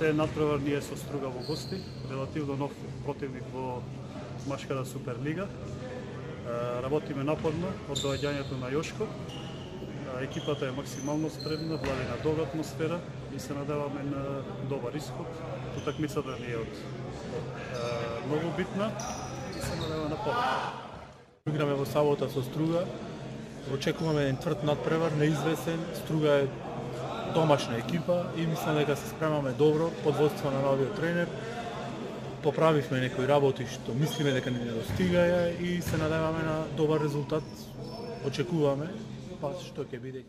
Следен надпревар ние со Струга во гости, релативно нов противник во Машката Суперлига. Работиме напорно од доаѓањето на Јошко. Екипата е максимално спремна, влади на добра атмосфера и се надеваме на добар исход. Утакмицата ни е од многу битна и се надеваме на победа. Играме во сабота со Струга. Очекуваме еден тврд надпревар, неизвестен. Струга е домашна екипа и мислам дека се спремаме добро под водство на новиот тренер. Поправивме некои работи што мислиме дека не достигаја и се надеваме на добар резултат. Очекуваме, па што ќе биде.